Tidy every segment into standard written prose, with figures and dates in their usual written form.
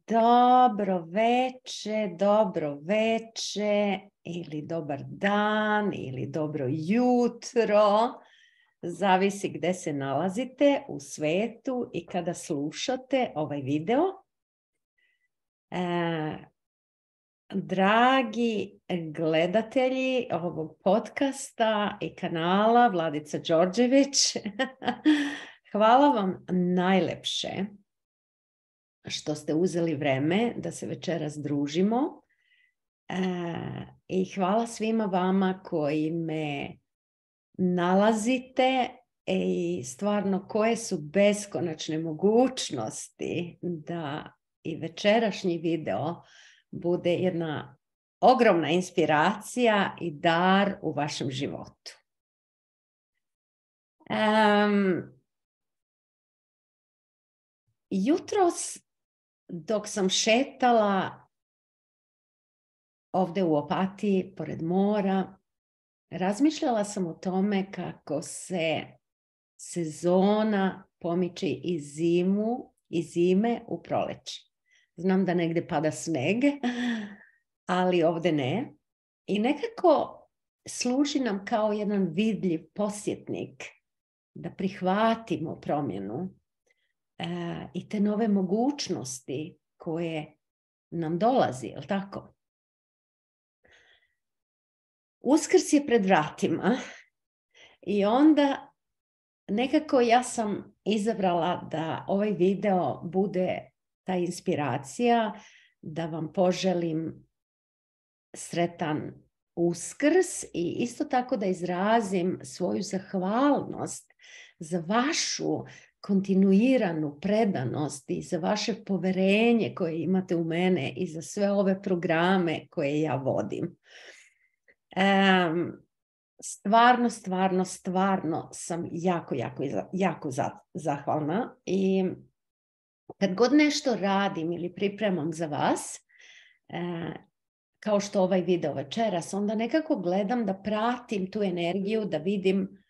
Dobro veče ili dobar dan ili dobro jutro. Zavisi gdje se nalazite u svetu i kada slušate ovaj video. Dragi gledatelji ovog podcasta i kanala Vladica Đorđević, hvala vam najlepše što ste uzeli vreme da se večeras družimo i hvala svima vama koji me nalazite i stvarno koje su beskonačne mogućnosti da i večerašnji video bude jedna ogromna inspiracija i dar u vašem životu. Jutros dok sam šetala ovdje u Opatiji, pored mora, razmišljala sam o tome kako se sezona pomiče iz zime u proleće. Znam da negdje pada sneg, ali ovdje ne. I nekako služi nam kao jedan vidljiv podsjetnik da prihvatimo promjenu i te nove mogućnosti koje nam dolazi, je li tako? Uskrs je pred vratima i onda nekako ja sam izabrala da ovaj video bude ta inspiracija, da vam poželim sretan Uskrs i isto tako da izrazim svoju zahvalnost za vašu kontinuiranu predanost i za vaše poverenje koje imate u mene i za sve ove programe koje ja vodim. Stvarno sam jako zahvalna i kad god nešto radim ili pripremam za vas, kao što ovaj video večeras, onda nekako gledam da pratim tu energiju, da vidim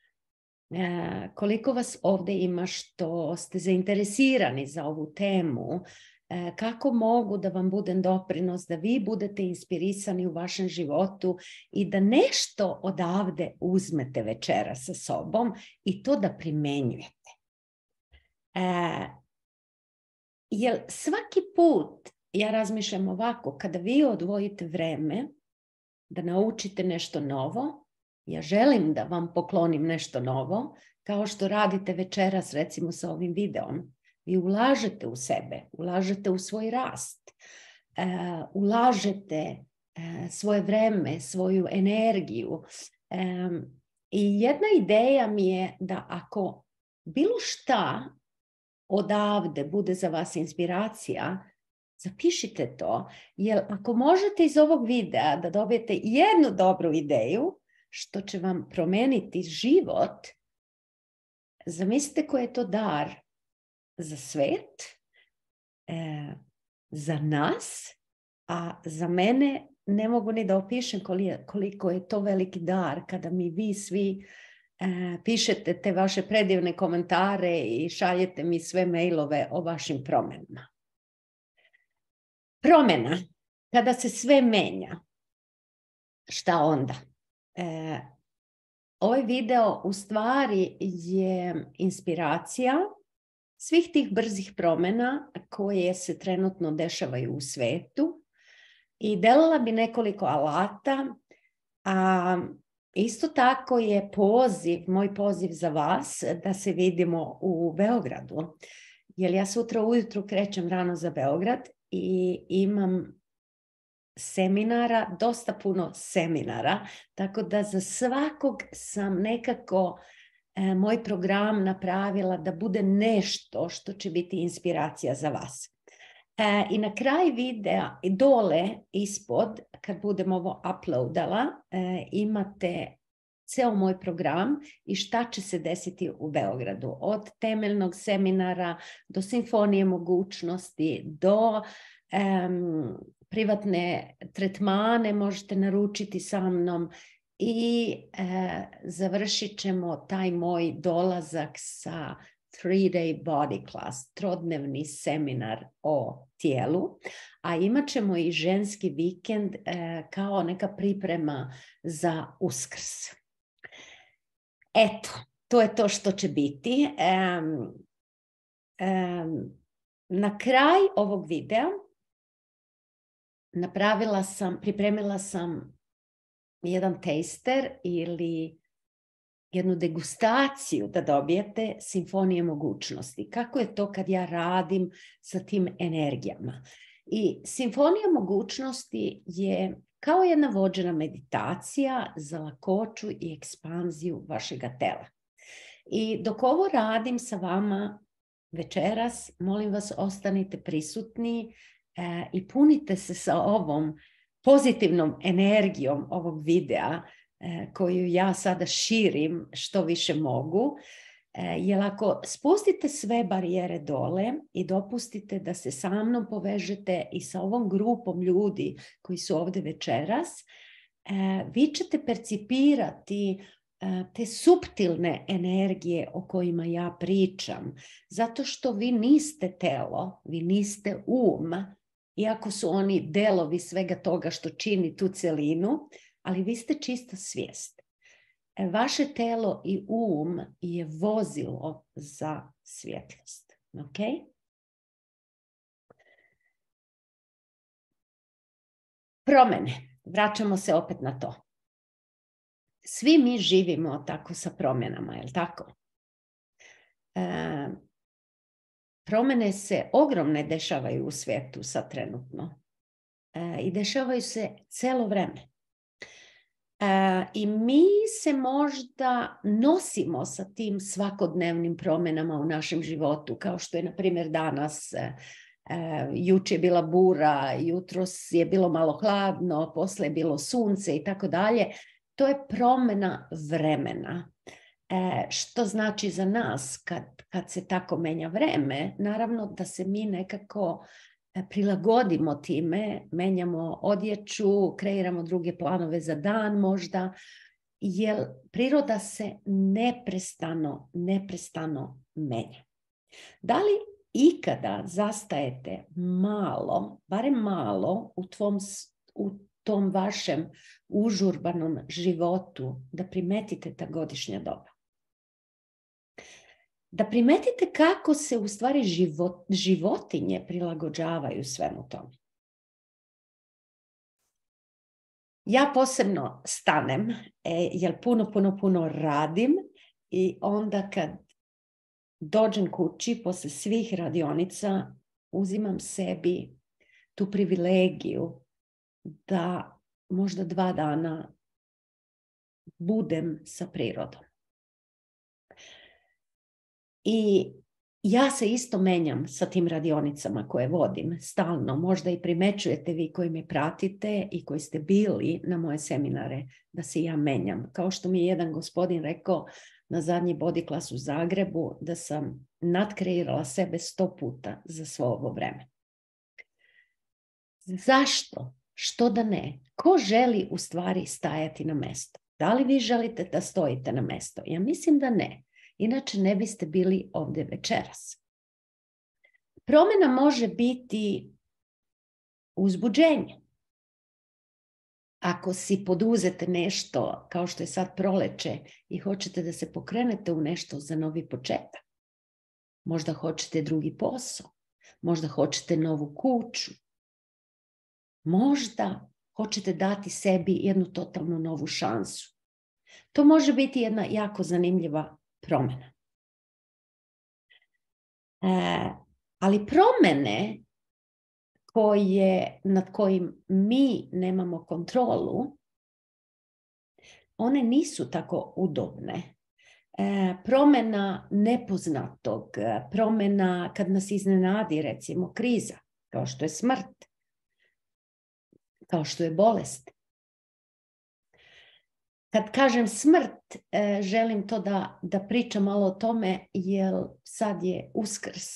koliko vas ovdje ima što ste zainteresirani za ovu temu, kako mogu da vam budem doprinos, da vi budete inspirisani u vašem životu i da nešto odavde uzmete večera sa sobom i to da primenjujete. Jer svaki put ja razmišljam ovako, kada vi odvojite vreme da naučite nešto novo, ja želim da vam poklonim nešto novo, kao što radite večeras recimo sa ovim videom. Vi ulažete u sebe, ulažete u svoj rast, ulažete svoje vreme, svoju energiju. I jedna ideja mi je da ako bilo šta odavde bude za vas inspiracija, zapišite to, jer ako možete iz ovog videa da dobijete jednu dobru ideju, što će vam promijeniti život, zamislite koji je to dar za svet, za nas, a za mene ne mogu ni da opišem koliko je to veliki dar kada mi vi svi pišete te vaše predivne komentare i šaljete mi sve mailove o vašim promjenama. Promjena, kada se sve menja, šta onda? Ovaj video u stvari je inspiracija svih tih brzih promjena koje se trenutno dešavaju u svetu i delala bi nekoliko alata, a isto tako je moj poziv za vas da se vidimo u Beogradu, jer ja sutra ujutru krećem rano za Beograd i imam seminara, dosta puno seminara, tako da za svakog sam nekako moj program napravila da bude nešto što će biti inspiracija za vas. I na kraj videa, dole ispod, kad budem ovo uploadala, imate ceo moj program i šta će se desiti u Beogradu. Od temeljnog seminara do simfonije mogućnosti, do privatne tretmane možete naručiti sa mnom i završit ćemo taj moj dolazak sa 3-day body class, trodnevni seminar o tijelu, a imat ćemo i ženski vikend kao neka priprema za Uskrs. Eto, to je to što će biti. Na kraj ovog videa pripremila sam jedan taster ili jednu degustaciju da dobijete simfonije mogućnosti. Kako je to kad ja radim sa tim energijama? I simfonija mogućnosti je kao jedna vođena meditacija za lakoću i ekspanziju vašega tela. I dok ovo radim sa vama večeras, molim vas, ostanite prisutni i punite se sa ovom pozitivnom energijom ovog videa koju ja sada širim što više mogu. Jer ako spustite sve barijere dole i dopustite da se sa mnom povežete i sa ovom grupom ljudi koji su ovdje večeras, vi ćete percipirati te suptilne energije o kojima ja pričam. Zato što vi niste telo, vi niste iako su oni delovi svega toga što čini tu celinu, ali vi ste čista svijest. Vaše telo i je vozilo za svjetlost. Ok? Promjene. Vraćamo se opet na to. Svi mi živimo tako sa promjenama, je li tako? Promjene se ogromne dešavaju u svijetu sad trenutno. I dešavaju se cijelo vrijeme. I mi se možda nosimo sa tim svakodnevnim promjenama u našem životu, kao što je, na primjer, danas, jučer je bila bura, jutros je bilo malo hladno, poslije je bilo sunce i tako dalje. To je promjena vremena. Što znači za nas kad se tako menja vreme? Naravno da se mi nekako prilagodimo time, menjamo odjeću, kreiramo druge planove za dan možda, jer priroda se neprestano menja. Da li ikada zastajete malo, barem malo u tom vašem užurbanom životu da primetite ta godišnja doba? Da primetite kako se u stvari životinje prilagođavaju svemu tome. Ja posebno stanem, jer puno radim i onda kad dođem kući posle svih radionica, uzimam sebi tu privilegiju da možda 2 dana budem sa prirodom. I ja se isto menjam sa tim radionicama koje vodim stalno. Možda i primećujete vi koji me pratite i koji ste bili na moje seminare da se ja menjam. Kao što mi je jedan gospodin rekao na zadnji body class u Zagrebu da sam nadkreirala sebe 100 puta za svo ovo vreme. Zašto? Što da ne? Ko želi u stvari stajati na mesto? Da li vi želite da stojite na mesto? Ja mislim da ne. Inače ne biste bili ovdje večeras. Promjena može biti uzbuđenje. Ako si poduzete nešto kao što je sad proleće i hoćete da se pokrenete u nešto za novi početak. Možda hoćete drugi posao. Možda hoćete novu kuću. Možda hoćete dati sebi jednu totalnu novu šansu. To može biti jedna jako zanimljiva promjena. Ali promjene nad kojim mi nemamo kontrolu, one nisu tako udobne. Promjena nepoznatog, promjena kad nas iznenadi, recimo kriza, kao što je smrt, kao što je bolest. Kad kažem smrt, želim to da pričam malo o tome, jer sad je Uskrs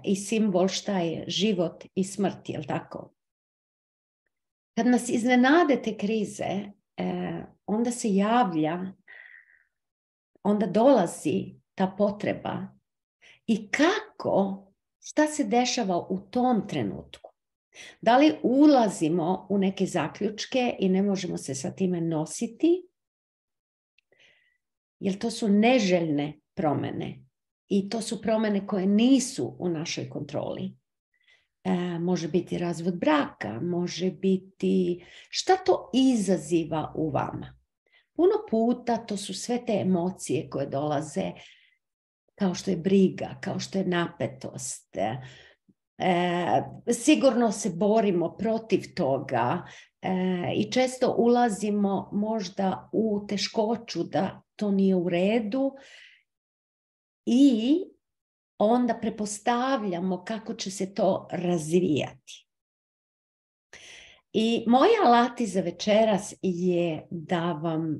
i simbol šta je život i smrt, jel tako? Kad nas iznenade te krize, onda se javlja, onda dolazi ta potreba i kako, šta se dešava u tom trenutku. Da li ulazimo u neke zaključke i ne možemo se sa time nositi, jer to su neželjne promjene i to su promjene koje nisu u našoj kontroli. Može biti razvod braka, može biti šta to izaziva u vama. Puno puta to su sve te emocije koje dolaze kao što je briga, kao što je napetost. Sigurno se borimo protiv toga i često ulazimo možda u teškoću da to nije u redu i onda pretpostavljamo kako će se to razvijati. I moji alati za večeras je da vam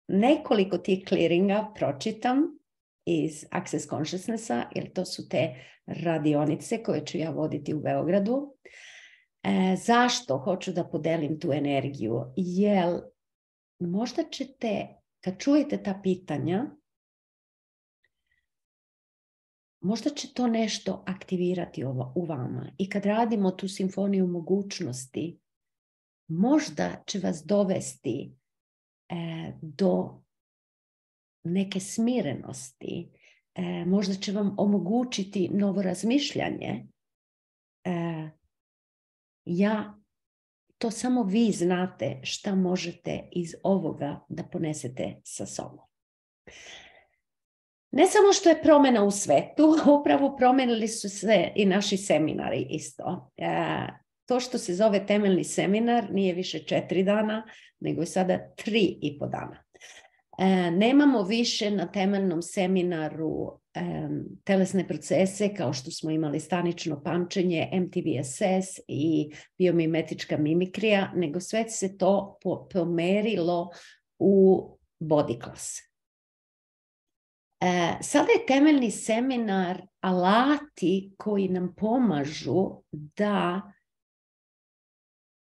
nekoliko tih clearinga pročitam iz Access Consciousnessa, jer to su te radionice koje ću ja voditi u Beogradu. Zašto hoću da podelim tu energiju? Jer možda ćete, kad čujete ta pitanja, možda će to nešto aktivirati u vama. I kad radimo tu simfoniju mogućnosti, možda će vas dovesti do neke smirenosti. Možda će vam omogućiti novo razmišljanje. To samo vi znate šta možete iz ovoga da ponesete sa sobom. Ne samo što je promjena u svetu, upravo promijenili su se i naši seminari isto. To što se zove temeljni seminar nije više 4 dana, nego je sada 3,5 dana. Nemamo više na temeljnom seminaru telesne procese kao što smo imali stanično pamćenje, MTVSS i biomimetička mimikrija, nego sve se to pomerilo u body class. Sada je temeljni seminar alati koji nam pomažu da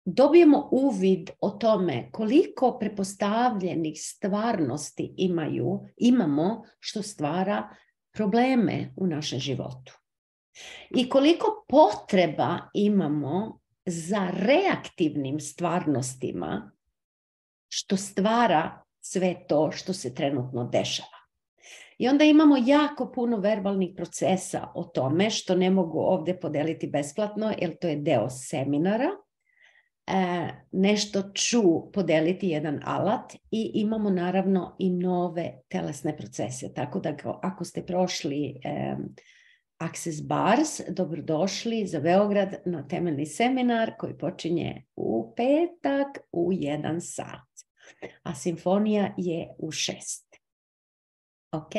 dobijemo uvid o tome koliko pretpostavljenih stvarnosti imamo što stvara probleme u našem životu. I koliko potreba imamo za reaktivnim stvarnostima što stvara sve to što se trenutno dešava. I onda imamo jako puno verbalnih procesa o tome što ne mogu ovdje podeliti besplatno jer to je deo seminara. Nešto ću podeliti jedan alat i imamo naravno i nove telesne procese. Tako da ako ste prošli Access Bars, dobrodošli za Beograd na temeljni seminar koji počinje u petak u 1 sat. A simfonija je u 6. Ok?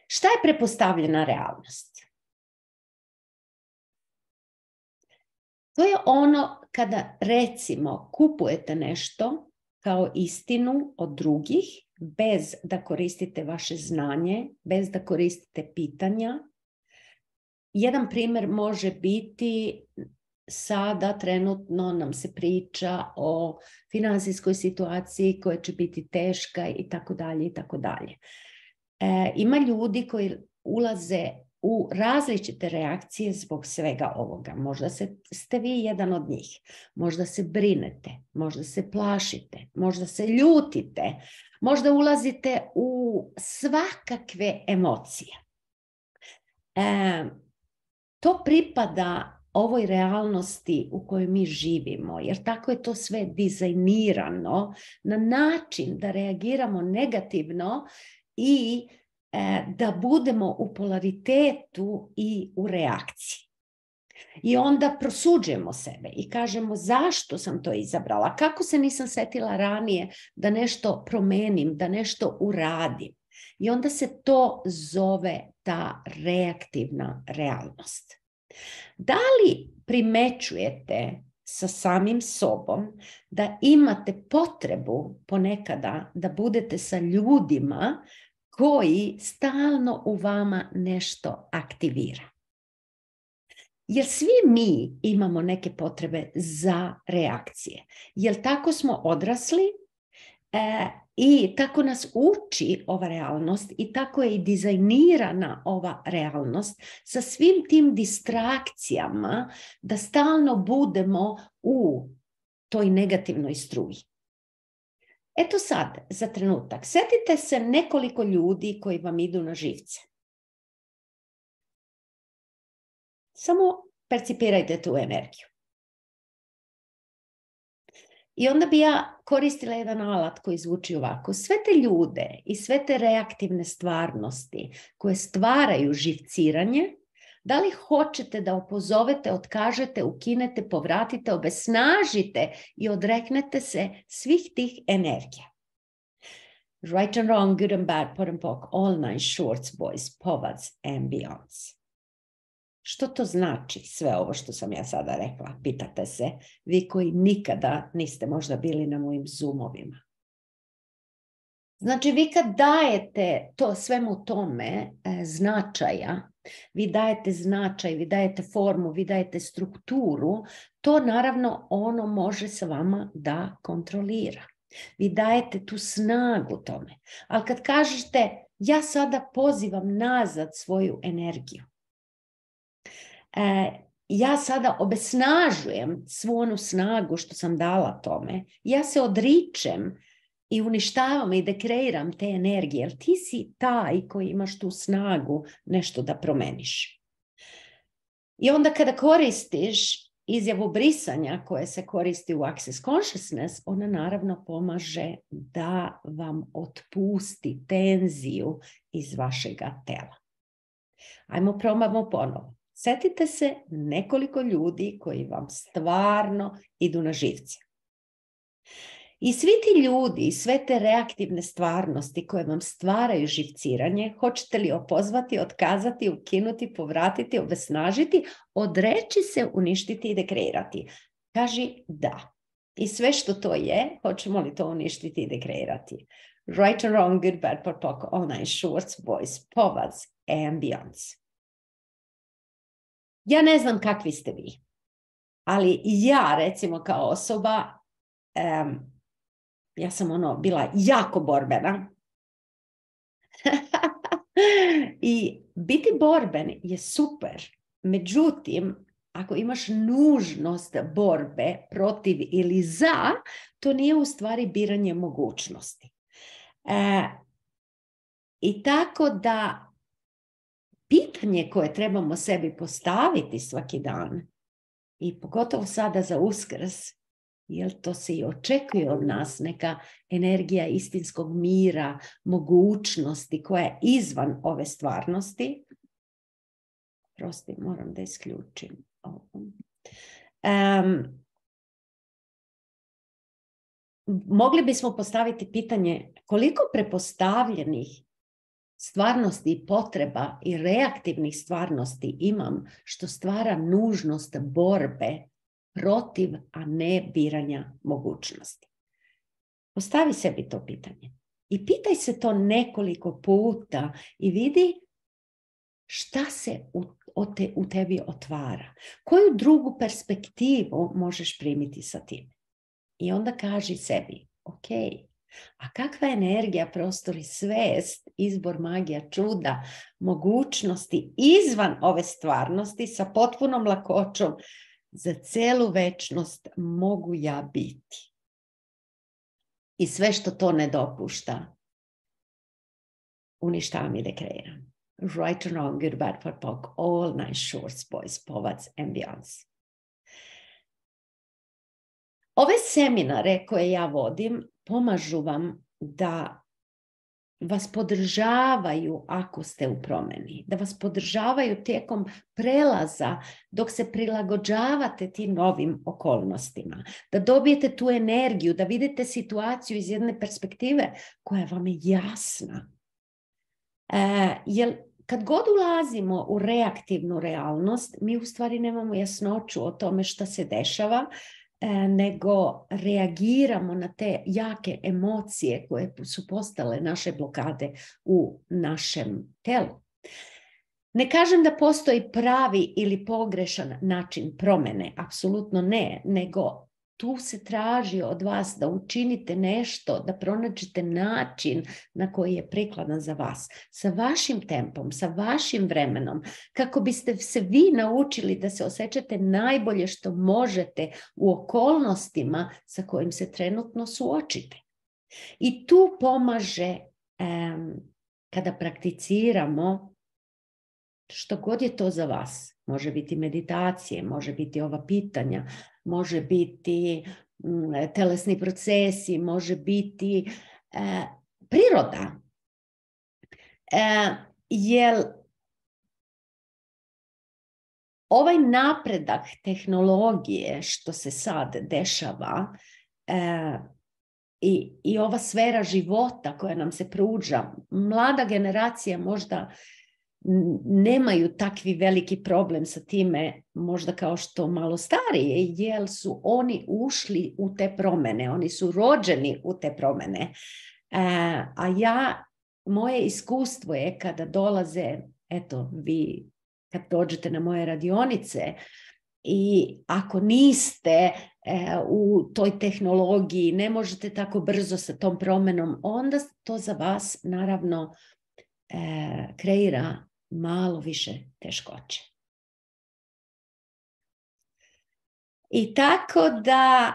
Šta je pretpostavljena realnost? To je ono kada, recimo, kupujete nešto kao istinu od drugih, bez da koristite vaše znanje, bez da koristite pitanja. Jedan primjer može biti, sada trenutno nam se priča o finansijskoj situaciji koja će biti teška i tako dalje i tako dalje. Ima ljudi koji ulaze u različite reakcije zbog svega ovoga. Možda ste vi jedan od njih. Možda se brinete, možda se plašite, možda se ljutite, možda ulazite u svakakve emocije. To pripada ovoj realnosti u kojoj mi živimo, jer tako je to sve dizajnirano na način da reagiramo negativno i da budemo u polaritetu i u reakciji. I onda prosuđujemo sebe i kažemo zašto sam to izabrala, kako se nisam setila ranije da nešto promenim, da nešto uradim. I onda se to zove ta reaktivna realnost. Da li primećujete sa samim sobom da imate potrebu ponekada da budete sa ljudima koji stalno u vama nešto aktivira? Jer svi mi imamo neke potrebe za reakcije. Jer tako smo odrasli I tako nas uči ova realnost i tako je i dizajnirana ova realnost sa svim tim distrakcijama da stalno budemo u toj negativnoj struji. Eto sad, za trenutak, sjetite se nekoliko ljudi koji vam idu na živce. Samo percipirajte tu energiju. I onda bi ja koristila jedan alat koji zvuči ovako. Sve te ljude i sve te reaktivne stvarnosti koje stvaraju živciranje, da li hoćete da opozovete, otkažete, ukinete, povratite, obesnažite i odreknete se svih tih energija. Right and wrong, good and bad, pot and pock, all nine shorts, boys, povads and beyonds. Što to znači sve ovo što sam ja sada rekla? Pitate se, vi koji nikada niste možda bili na mojim Zoomovima. Znači, vi kad dajete to svemu tome značaja, vi dajete značaj, vi dajete formu, vi dajete strukturu, to naravno ono može sa vama da kontrolira. Vi dajete tu snagu tome. Ali kad kažete, ja sada pozivam nazad svoju energiju, ja sada obesnažujem svu onu snagu što sam dala tome, ja se odričem i uništavam i dekreiram te energije, jer ti si taj koji imaš tu snagu nešto da promeniš. I onda kada koristiš izjavu brisanja koja se koristi u Access Consciousness, ona naravno pomaže da vam otpusti tenziju iz vašega tela. Ajmo probamo ponovo. Sjetite se nekoliko ljudi koji vam stvarno idu na živce. I svi ti ljudi, sve te reaktivne stvarnosti koje vam stvaraju živciranje, hoćete li opozvati, otkazati, ukinuti, povratiti, obesnažiti, odreći se, uništiti i dekreirati? Kaži da. I sve što to je, hoćemo li to uništiti i dekreirati? Right or wrong, good, bad, pot, pock, all nine shorts, boys, povads and beyonds. Ja ne znam kakvi ste vi, ali ja recimo kao osoba, ja sam bila jako borbena. I biti borben je super. Međutim, ako imaš nužnost borbe protiv ili za, to nije u stvari biranje mogućnosti. I tako da pitanje koje trebamo sebi postaviti svaki dan, i pogotovo sada za Uskrs, jer to se i očekuje od nas, neka energija istinskog mira, mogućnosti koja je izvan ove stvarnosti. Prosti, moram da isključim ovo. Mogli bismo postaviti pitanje koliko prepostavljenih stvarnosti i potreba i reaktivnih stvarnosti imam što stvara nužnost borbe protiv, a ne biranja mogućnosti. Postavi sebi to pitanje. I pitaj se to nekoliko puta i vidi šta se u tebi otvara. Koju drugu perspektivu možeš primiti sa tim? I onda kaži sebi, ok, a kakva je energija, prostor i svest, izbor, magija, čuda, mogućnosti izvan ove stvarnosti sa potpunom lakoćom za celu večnost mogu ja biti. I sve što to ne dopušta, uništavam i dekreiram. Right and wrong, good, bad, pot, pock, all nine shorts, boys, povads and beyonds. Ove seminare koje ja vodim pomažu vam da vas podržavaju ako ste u promjeni, da vas podržavaju tijekom prelaza dok se prilagođavate tim novim okolnostima, da dobijete tu energiju, da vidite situaciju iz jedne perspektive koja vam je jasna. Jer kad god ulazimo u reaktivnu realnost, mi u stvari nemamo jasnoću o tome šta se dešava, nego reagiramo na te jake emocije koje su postale naše blokade u našem telu. Ne kažem da postoji pravi ili pogrešan način promjene, apsolutno ne, nego tu se traži od vas da učinite nešto, da pronađete način na koji je prikladan za vas, sa vašim tempom, sa vašim vremenom, kako biste se vi naučili da se osjećate najbolje što možete u okolnostima sa kojim se trenutno suočite. I tu pomaže kada prakticiramo što god je to za vas. Može biti meditacije, može biti ova pitanja, može biti telesni procesi, može biti priroda. Jer ovaj napredak tehnologije što se sad dešava i ova sfera života koja nam se pruža, mlada generacija možda nemaju takvi veliki problem sa time, možda kao što malo starije, jer su oni ušli u te promjene, oni su rođeni u te promjene. Moje iskustvo je kada dolaze, eto, vi kad dođete na moje radionice i ako niste u toj tehnologiji, ne možete tako brzo sa tom promjenom, onda to za vas naravno kreira malo više teškoće. I tako da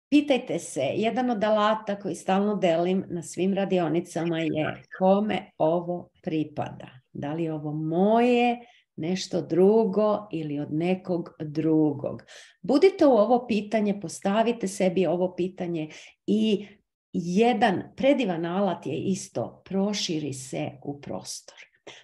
pitajte se, jedan od alata koji stalno delim na svim radionicama je kome ovo pripada. Da li je ovo moje, nešto drugo ili od nekog drugog. Budite u ovo pitanje, postavite sebi ovo pitanje i jedan predivan alat je isto, proširi se u prostor.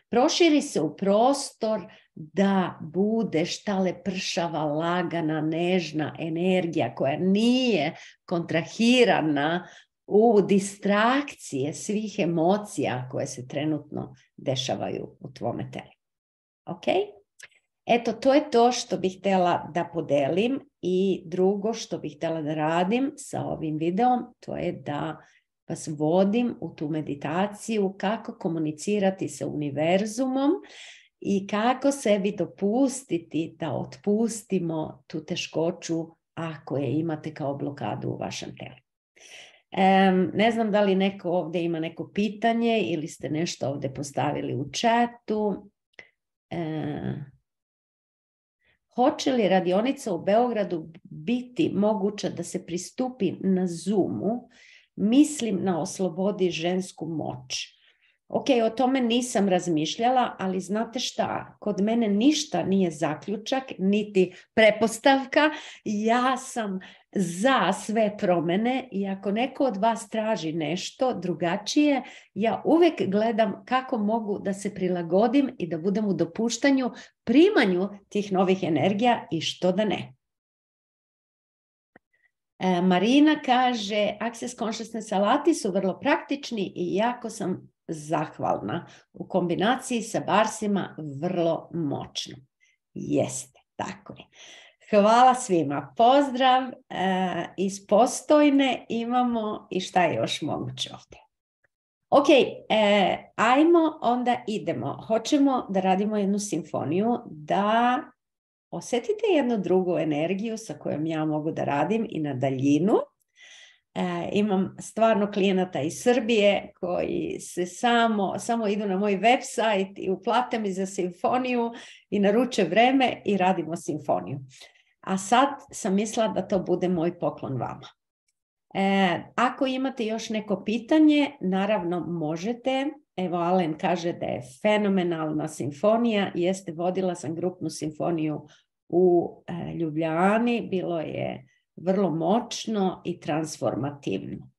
Proširi se u prostor da bude šta lepršava, lagana, nežna energija koja nije kontrahirana u distrakcije svih emocija koje se trenutno dešavaju u tvome telu. Ok? Eto, to je to što bih htjela da podelim i drugo što bih htjela da radim sa ovim videom, to je da vas vodim u tu meditaciju kako komunicirati sa univerzumom i kako sebi dopustiti da otpustimo tu teškoću ako je imate kao blokadu u vašem telu. Ne znam da li neko ovdje ima neko pitanje ili ste nešto ovdje postavili u chatu. Hoće li radionica u Beogradu biti moguća da se pristupi na Zoomu? Mislim na Oslobodi žensku moć. Ok, o tome nisam razmišljala, ali znate šta? Kod mene ništa nije zaključak, niti prepostavka. Ja sam za sve promjene i ako neko od vas traži nešto drugačije, ja uvijek gledam kako mogu da se prilagodim i da budem u dopuštanju, primanju tih novih energija i što da ne. Marina kaže, Access Consciousness alati su vrlo praktični i jako sam zahvalna. U kombinaciji sa barsima vrlo moćno. Jeste, tako je. Hvala svima. Pozdrav iz Postojne. Imamo i šta je još moguće ovdje. Ok, ajmo, onda idemo. Hoćemo da radimo jednu simfoniju, da osjetite jednu drugu energiju sa kojom ja mogu da radim i na daljinu. Imam stvarno klijenata iz Srbije koji se samo idu na moj website i uplate mi za simfoniju i naruče vreme i radimo simfoniju. A sad sam mislila da to bude moj poklon vama. Ako imate još neko pitanje, naravno možete. Evo, Alen kaže da je fenomenalna simfonija. Jeste, vodila sam grupnu simfoniju u Ljubljani. Bilo je vrlo moćno i transformativno.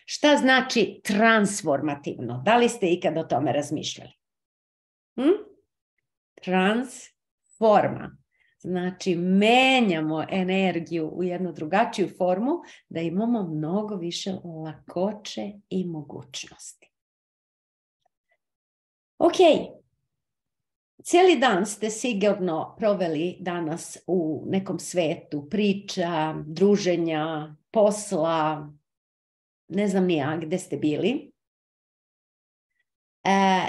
Šta znači transformativno? Da li ste ikad o tome razmišljali? Transforma. Znači, menjamo energiju u jednu drugačiju formu da imamo mnogo više lakoće i mogućnosti. Ok. Cijeli dan ste sigurno proveli danas u nekom svetu priča, druženja, posla, ne znam ni ja gdje ste bili.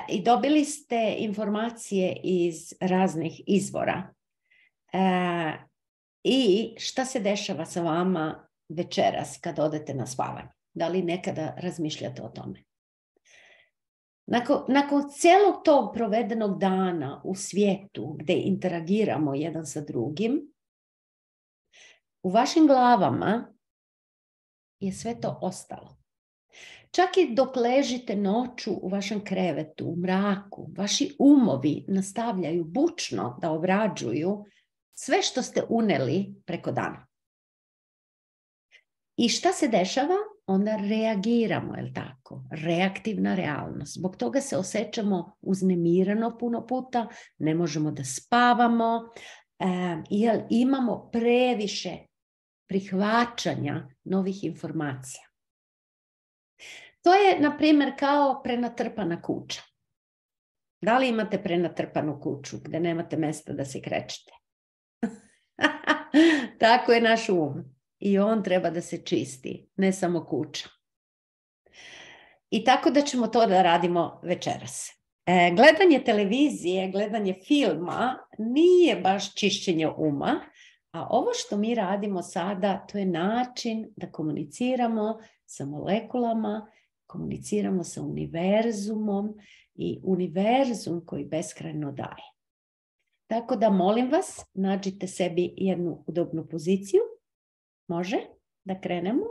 I dobili ste informacije iz raznih izvora. I šta se dešava sa vama večeras kad odete na spavanje? Da li nekada razmišljate o tome? Nakon cijelog tog provedenog dana u svijetu gdje interagiramo jedan sa drugim, u vašim glavama je sve to ostalo. Čak i dok ležite noću u vašem krevetu, u mraku, vaši umovi nastavljaju bučno da obrađuju sve što ste uneli preko dana. I šta se dešava? Onda reagiramo, je li tako? Reaktivna realnost. Zbog toga se osjećamo uznemireno puno puta, ne možemo da spavamo, jer imamo previše prihvaćanja novih informacija. To je, na primjer, kao prenatrpana kuća. Da li imate prenatrpanu kuću gdje nemate mjesta da se krećete? Tako je naš um. I on treba da se čisti, ne samo kuća. I tako da ćemo to da radimo večeras. Gledanje televizije, gledanje filma nije baš čišćenje uma, a ovo što mi radimo sada, to je način da komuniciramo sa molekulama, komuniciramo sa univerzumom i univerzum koji beskrajno daje. Tako da molim vas, nađite sebi jednu udobnu poziciju. Može da krenemo?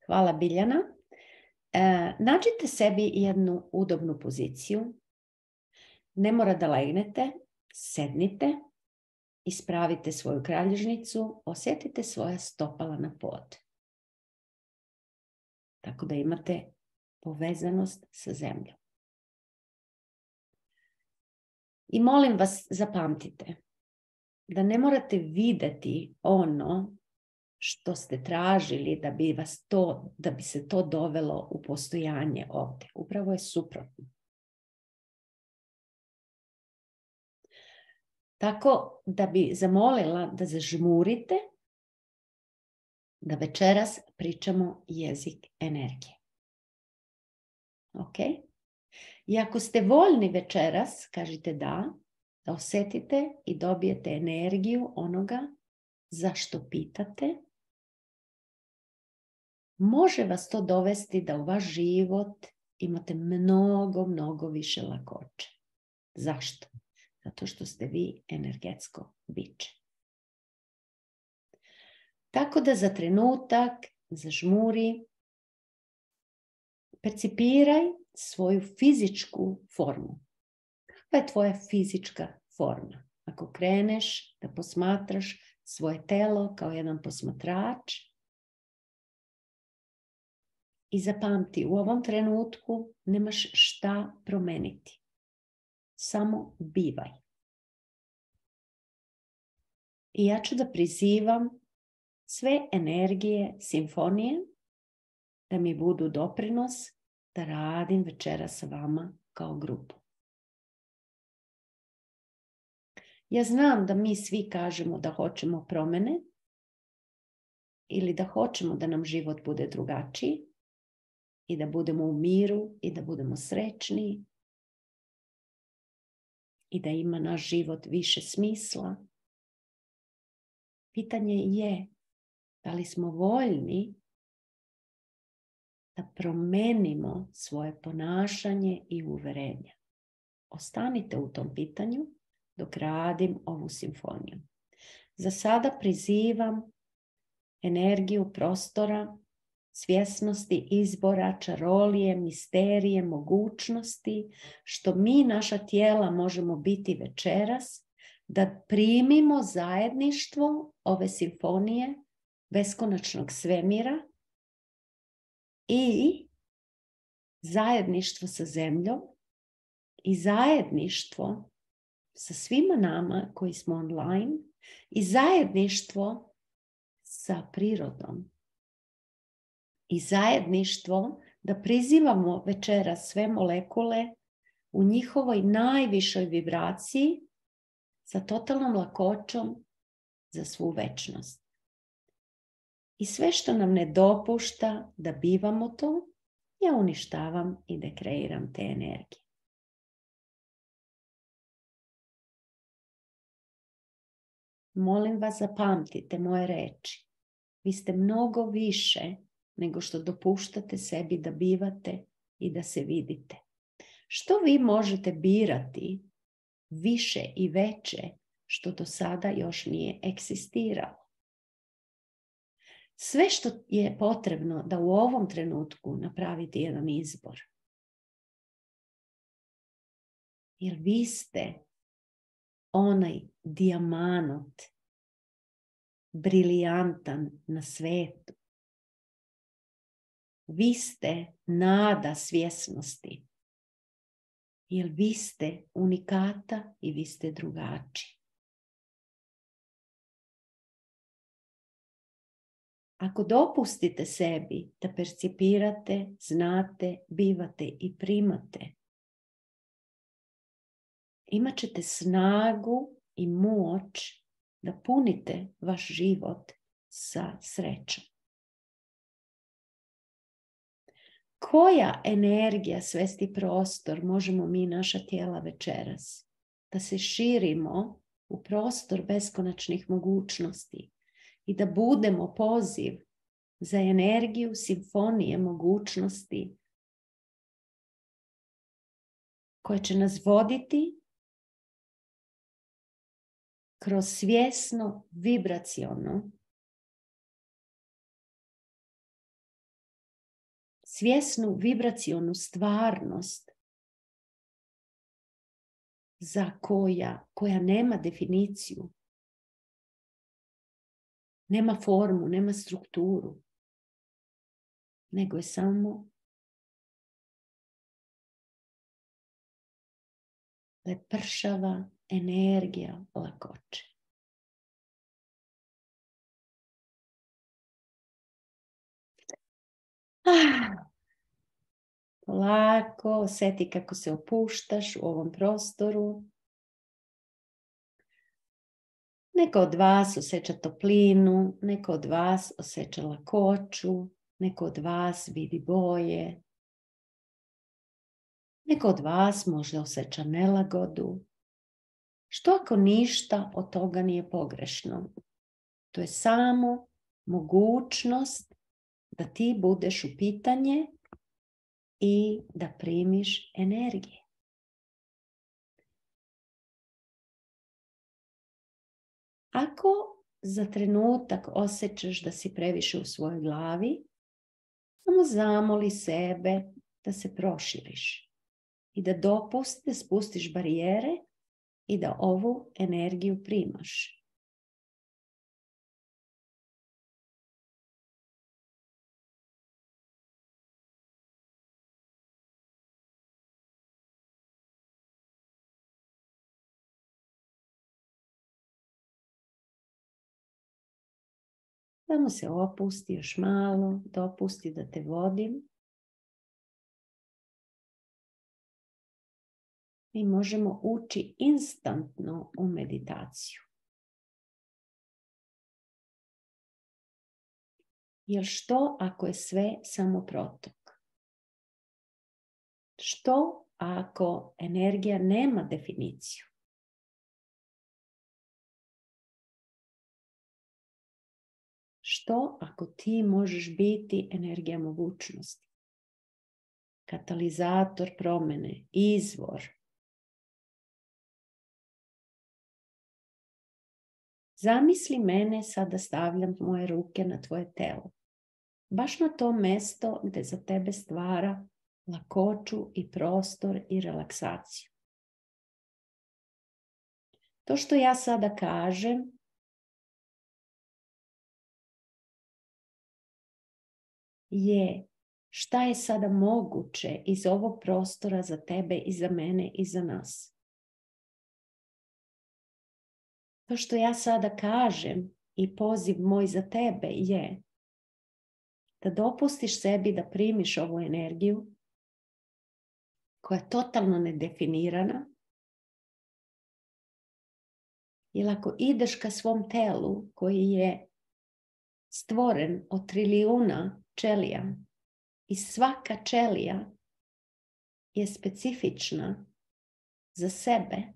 Hvala, Biljana. Nađite sebi jednu udobnu poziciju. Ne mora da legnete, sednite, ispravite svoju kralježnicu, osjetite svoja stopala na pod. Tako da imate povezanost sa zemljom. I molim vas, zapamtite da ne morate vidjeti ono što ste tražili da bi se to dovelo u postojanje ovdje. Upravo je suprotno. Tako da bi zamolila da zažmurite, da večeras pričamo jezik energije. Ok? I ako ste voljni večeras, kažite da osjetite i dobijete energiju onoga zašto pitate. Može vas to dovesti da u vaš život imate mnogo više lakoće. Zašto? Zato što ste vi energetsko biće. Tako da za trenutak zažmuri, percipiraj svoju fizičku formu. Kakva je tvoja fizička forma? Ako kreneš da posmatraš svoje telo kao jedan posmatrač i zapamti, u ovom trenutku nemaš šta promeniti. Samo bivaj. I ja ću da prizivam sve energije simfonije da mi budu doprinos da radim večeras sa vama kao grupu. Ja znam da mi svi kažemo da hoćemo promjene ili da hoćemo da nam život bude drugačiji i da budemo u miru i da budemo srećni i da ima naš život više smisla. Pitanje je da li smo voljni da promenimo svoje ponašanje i uverenja. Ostanite u tom pitanju dok radim ovu simfoniju. Za sada prizivam energiju prostora, svjesnosti, izbora, čarolije, misterije, mogućnosti, što mi, naša tijela, možemo biti večeras, da primimo zajedništvo ove simfonije beskonačnog svemira i zajedništvo sa zemljom i zajedništvo sa svima nama koji smo online i zajedništvo sa prirodom. I zajedništvo da prizivamo večeras sve molekule u njihovoj najvišoj vibraciji sa totalnom lakoćom za svu večnost. I sve što nam ne dopušta da bivamo to, ja uništavam i dekreiram te energije. molim vas zapamtite moje reči. Vi ste mnogo više nego što dopuštate sebi da bivate i da se vidite. Što vi možete birati više i veće što do sada još nije egzistiralo? Sve što je potrebno da u ovom trenutku napravite jedan izbor. Jer vi ste onaj dijamanot, briljantan na svetu. Vi ste nada svjesnosti. Jer vi ste unikata i vi ste drugačiji. Ako dopustite sebi da percipirate, znate, bivate i primate, imat ćete snagu i moć da punite vaš život sa srećom. Koja energija, svesti prostor možemo mi naša tijela večeras? Da se širimo u prostor beskonačnih mogućnosti i da budemo poziv za energiju simfonije mogućnosti koja će nas voditi kroz svjesno vibraciono, svjesnu vibracionu stvarnost za koja nema definiciju, nema formu, nema strukturu, nego je samo lepršava energija lakoće. Polako osjeti kako se opuštaš u ovom prostoru. Neko od vas osjeća toplinu, neko od vas osjeća lakoću, neko od vas vidi boje, neko od vas možda osjeća nelagodu. Što ako ništa od toga nije pogrešno? To je samo mogućnost da ti budeš u pitanje i da primiš energije. Ako za trenutak osjećaš da si previše u svojoj glavi, samo zamoli sebe da se proširiš i da da spustiš barijere i da ovu energiju primaš. Samo se opusti još malo, dopusti da te vodim. Mi možemo ući instantno u meditaciju. Jer što ako je sve samo protok? Što ako energija nema definiciju? Što ako ti možeš biti energija mogućnosti? Katalizator promjene, izvor. Zamisli mene, sada stavljam moje ruke na tvoje telo. Baš na to mjesto gdje za tebe stvara lakoću i prostor i relaksaciju. To što ja sada kažem je šta je sada moguće iz ovog prostora za tebe i za mene i za nas. To što ja sada kažem i poziv moj za tebe je da dopustiš sebi da primiš ovu energiju koja je totalno nedefinirana. Jer ako ideš ka svom telu koji je stvoren od trilijuna ćelija i svaka ćelija je specifična za sebe,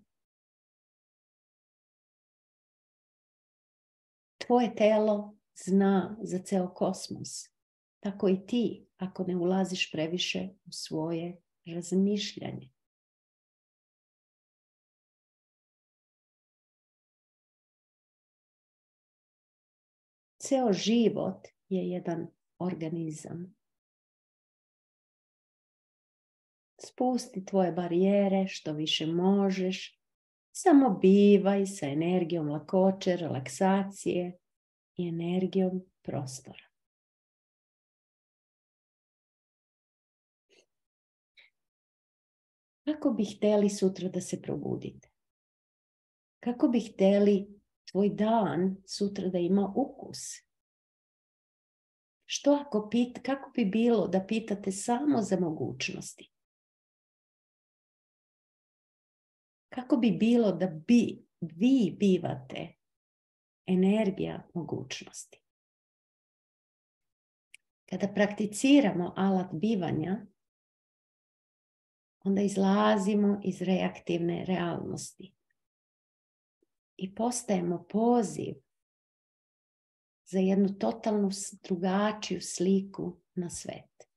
Tvoje telo zna za ceo kosmos. Tako i ti, ako ne ulaziš previše u svoje razmišljanje. Ceo život je jedan organizam. Spusti tvoje barijere što više možeš. Samo bivaj sa energijom lakoće, relaksacije i energijom prostora. Kako bi htjeli sutra da se probudite? Kako bi htjeli tvoj dan sutra da ima ukus? Kako bi bilo da pitate samo za mogućnosti? Kako bi bilo da vi bivate energija mogućnosti? Kada prakticiramo alat bivanja, onda izlazimo iz reaktivne realnosti i postajemo poziv za jednu totalnu drugačiju sliku na svet.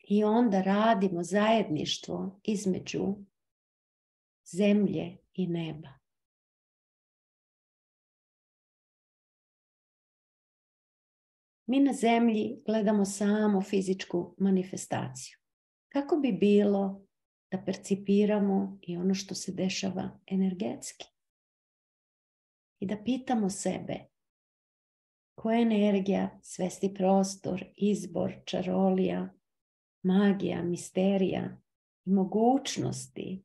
I onda radimo zajedništvo između zemlje i neba. Mi na zemlji gledamo samo fizičku manifestaciju. Kako bi bilo da percipiramo i ono što se dešava energetski? I da pitamo sebe koja je energija, svesti prostor, izbor, čarolija, magija, misterija i mogućnosti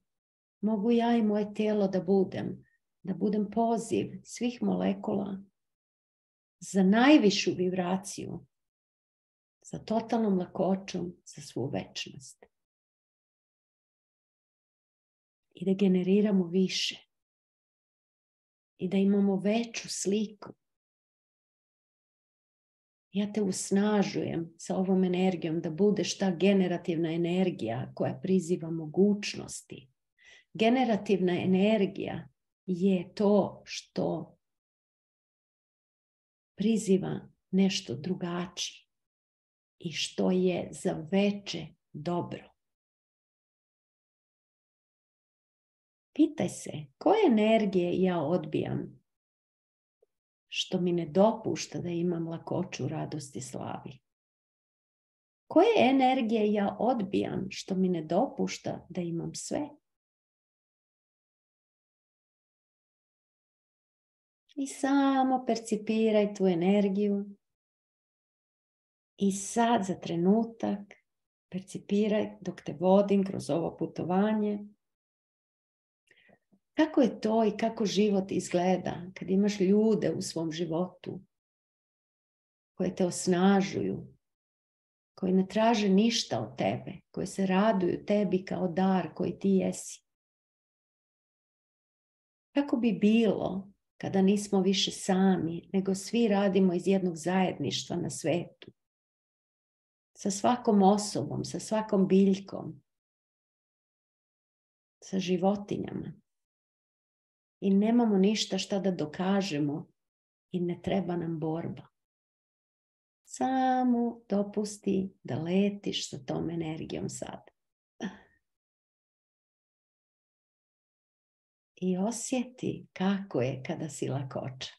mogu ja i moje tijelo da budem poziv svih molekula za najvišu vibraciju, za totalnom lakoćom, za svu večnost. I da generiramo više. I da imamo veću sliku. Ja te usnažujem sa ovom energijom da budeš ta generativna energija koja priziva mogućnosti. Generativna energija je to što priziva nešto drugačije i što je za veće dobro. Pitaj se, koje energije ja odbijam što mi ne dopušta da imam lakoću, radost i slavi? Koje energije ja odbijam što mi ne dopušta da imam sve? I samo percipiraj tu energiju. I sad za trenutak percipiraj dok te vodim kroz ovo putovanje. Kako je to i kako život izgleda kad imaš ljude u svom životu koje te osnažuju, koji ne traže ništa od tebe, koji se raduju tebi kao dar koji ti jesi. Kako bi bilo kada nismo više sami, nego svi radimo iz jednog zajedništva na svetu? Sa svakom osobom, sa svakom biljkom, sa životinjama. I nemamo ništa šta da dokažemo i ne treba nam borba. Samo dopusti da letiš sa tom energijom sad. I osjeti kako je kada si lakoća.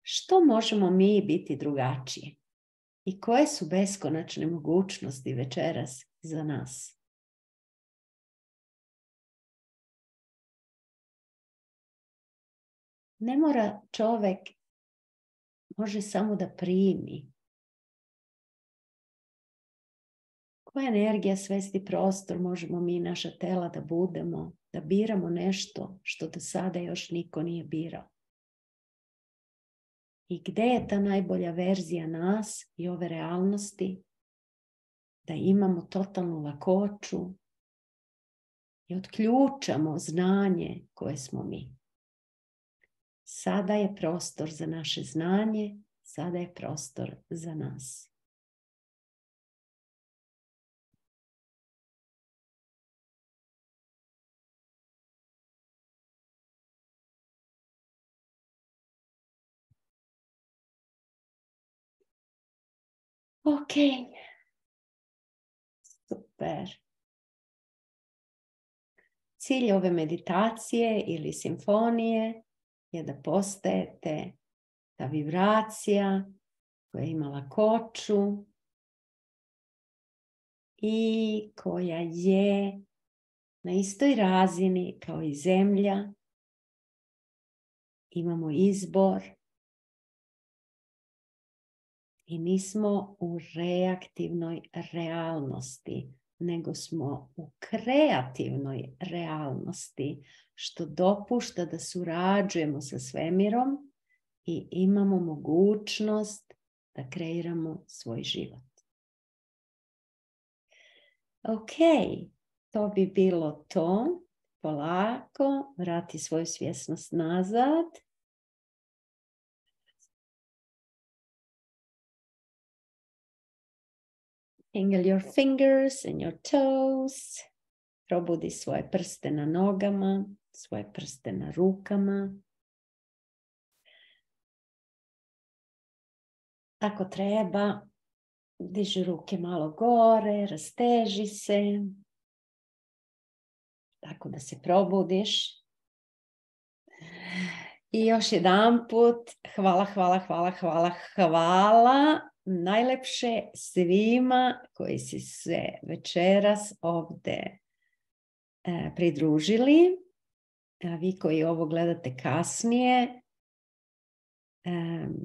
Što možemo mi biti drugačiji? I koje su beskonačne mogućnosti večeras za nas? Ne mora čovjek, može samo da primi. Koja energija, svesti prostor možemo mi, naša tela, da budemo, da biramo nešto što do sada još niko nije birao? I gdje je ta najbolja verzija nas i ove realnosti? Da imamo totalnu lakoću i otključamo znanje koje smo mi. Sada je prostor za naše znanje, sada je prostor za nas. Ok. Super. Cilj ove meditacije ili simfonije je da postajete ta vibracija koja ima lakoću i koja je na istoj razini kao i zemlja. Imamo izbor i nismo u reaktivnoj realnosti, nego smo u kreativnoj realnosti, što dopušta da surađujemo sa svemirom i imamo mogućnost da kreiramo svoj život. Ok, to bi bilo to. Polako, vrati svoju svjesnost nazad. Tingle your fingers and your toes. Probudi svoje prste na nogama, svoje prste na rukama. Ako treba, diži ruke malo gore, rasteži se. Tako da se probudiš. I još jedanput, hvala. Najlepše svima koji si se večeras ovdje pridružili. A vi koji ovo gledate kasnije,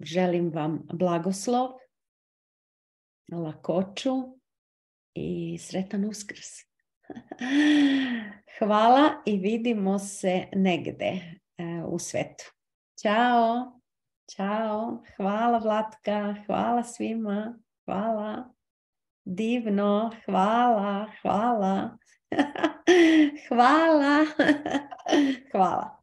želim vam blagoslov, lakoću i sretan Uskrs. Hvala i vidimo se negde u svetu. Ćao, čao, hvala Vlatka, hvala svima, hvala, divno, hvala, hvala, hvala.